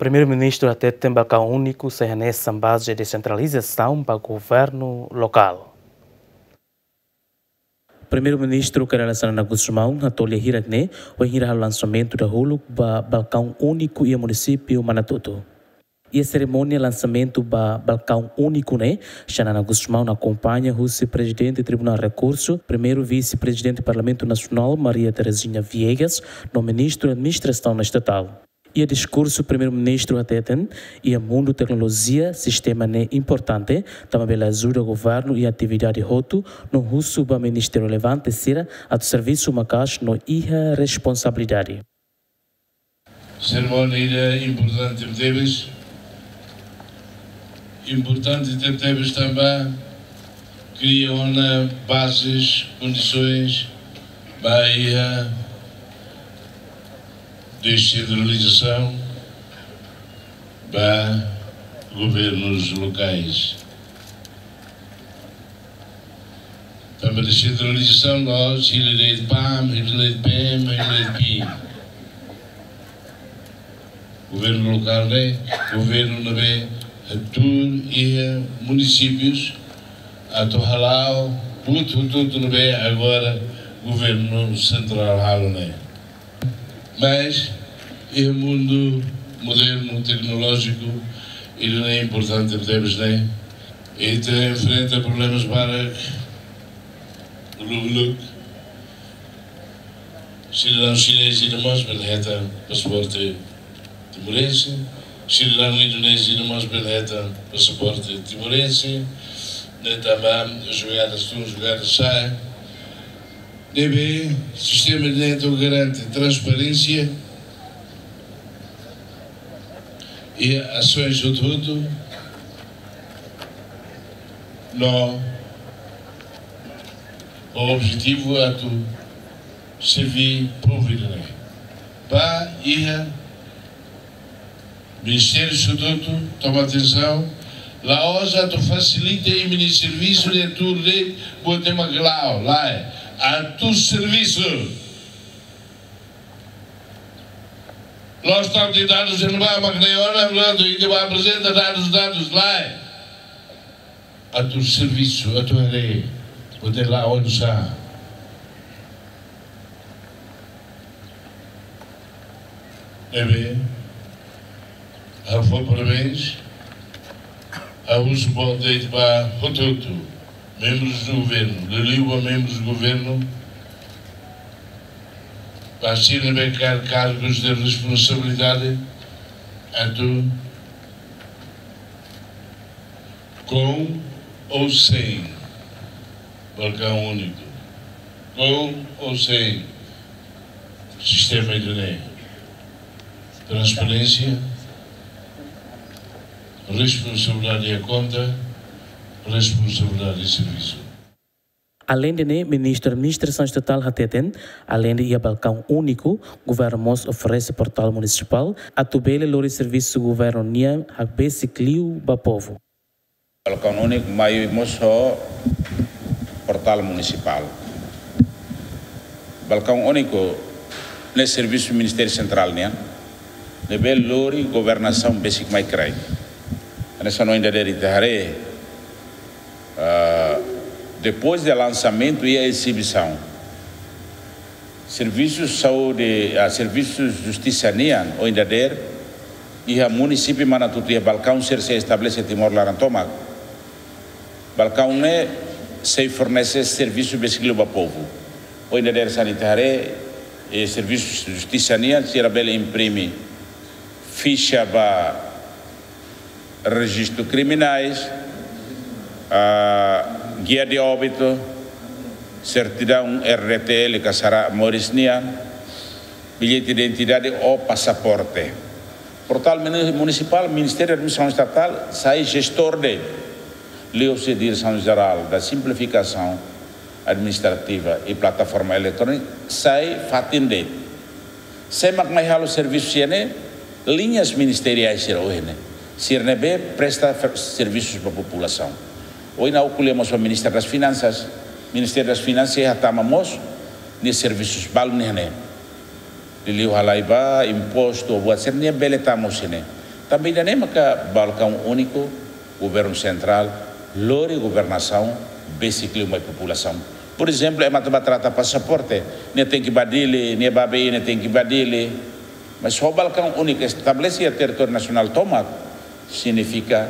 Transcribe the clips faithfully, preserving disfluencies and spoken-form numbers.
Primeiru-Ministru hateten balkaun úniku sai hanesan baze desentralizasaun ba governu lokál. Primeiru-Ministru Kay Rala Xanana Gusmão hato'o lia hirak ne'e, wainhira halo lansamentu dahuluk ba balkaun úniku iha munisípiu Manatuto. Iha serimónia lansamentu ba balkaun úniku ne'e, Xanana Gusmão akompaña husi Prezidente Tribunál Rekursu, Primeiru Vise-Prezidente Parlamentu Nasionál Maria Terezinha Viegas, no Ministru Administrasaun Estatál. Iha diskursu Primeiru-Ministru hateten, iha mundu teknolojia, sistema ne'e importante, tanba bele ajuda governu iha atividade hotu, no husu ba ministériu relevante sira atu servisu maka'as no iha responsabilidade. Serimónia ida importante tebetebes, importante tebetebes tanba kria ona bazes, kondisoens ba iha desentralizasaun ba governus lokais. Tanba desentralizasaun la'ós hili de'it PAM, hili de'it PM, hili de'it PIM. Governu lokál ne'e governu ne'ebé hatuur iha munisípius atu hala'o buat hotu-hotu ne'ebé agora governu sentrál halo ne'e. Mas iha mundu modernu teknolójiku, ida-ne'e importante tebes ne'e. Ita enfrenta problemas barak uluk-uluk. Sidadaun xinés ida mós bele hetan pasaporte timorense. Sidadaun indonéziu ida mós bele hetan pasaporte timorense. Ne'e tanba jogada tun, jogada sa'e. Ne'ebé sistema ne'e atu garante transparénsia iha asoens hotu-hotu, no objetivu atu serví povu ida-ne'e. Ba iha ministériu hotu-hotu toma atensaun, la'ós atu fasilita imi-nia servisu de atu de buat ema gelao, lae, atu servisu. La'ós tau di dadus ema ba, mak ne'e ona, atu ita ba aprezenta dadus, dadus, lae. Atu servisu, atu haree, atu la'o oinsá. Ne'ebé, ha'u fó parabéns, ha'u husu boot de'it ba hotu-hotu, membrus do governu, liuliu ba membrus do governu, ba sira ne'ebé kaer kargus de responsabilidade, atu com ou sem balcão único, com ou sem sistema ida-ne'e. Transparénsia, responsabilidade de conta, responsabilidade de servisu. Aleinde ne'e, Ministru Administrasaun Estatál hateten, aleinde iha balkaun úniku, governu mós oferese portál munisipál, atu bele lori servisu governu nian hakbesik liu ba povu. Balkaun úniku mai mós ho portál munisipál. Balkaun úniku ne'e servisu Ministériu Sentrál nian, ne'ebé lori governasaun besik mai kraik. Hanesan ohin dadeer ita haree, ah, depois de lansamentu iha ezibisaun, servisu saúde, ah, servisu justisa nian, ohin dadeer, iha munisípiu Manatuto iha balkaun sira sei estabelese Timor laran tomak. Balkaun ne'e sei fornese servisu besik liu ba povu. Ohin dadeer hanesan ita haree, eh, servisu justisa nian, sira bele imprime fixa ba rejistu kriminais, ah, gia de óbitu, sertidaun R D T L ka sara moris nian, billete de identidade ou pasaporte. Portál muni-, munisipál, Ministériu Administrasaun Estatál sai jestór de'it, liuhusi Diresaun Jerál da Simplifikasaun Administrativa e Plataforma Eletrónika sai fatin de'it. Sé mak mai halo servisu sira-ne'e? Liñas ministeriais sira ohin ne'e. Sira ne'ebé presta fer-, servisus ba populasaun. Ohin ha'u ko'alia mós ho Ministra das Finansas. Ministériu das Finansas sei hatama mós nia servisus balun ne'e. Liuliu halai ba impostu, buat sira-ne'e bele tama husi ne'e. Tanba ida-ne'e maka balkaun úniku, governu sentrál lori governasaun besik liu mai populasaun. Porezemplu, ema atu bá trata pasaporte, nia tenke bá Dili, nia bá bee, nia tenke bá Dili. Mas ho balkaun úniku estabelese iha territóriu nasionál tomak, signifika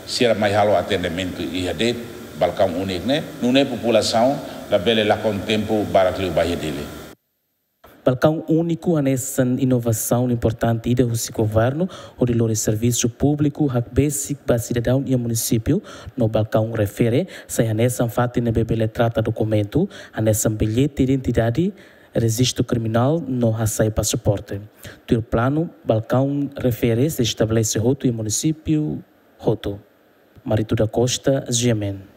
sira mai halo atendimentu iha de'it balkaun úniku ne'e, nune'e populasaun labele lakon tempu barak liu bá iha Dili. Balkaun úniku hanesan inovasaun importante ida husi governu, hodi lori servisu públiku hakbesik ba sidadaun iha munisípiu. No balkaun refere sai hanesan fatin ne'ebé bele trata dokumentu hanesan billete identidade, rejistu kriminál no hasai pasaporte. Tuir planu, balkaun refere sei estabelese hotu iha munisípiu hotu. Marito da Costa, G M N.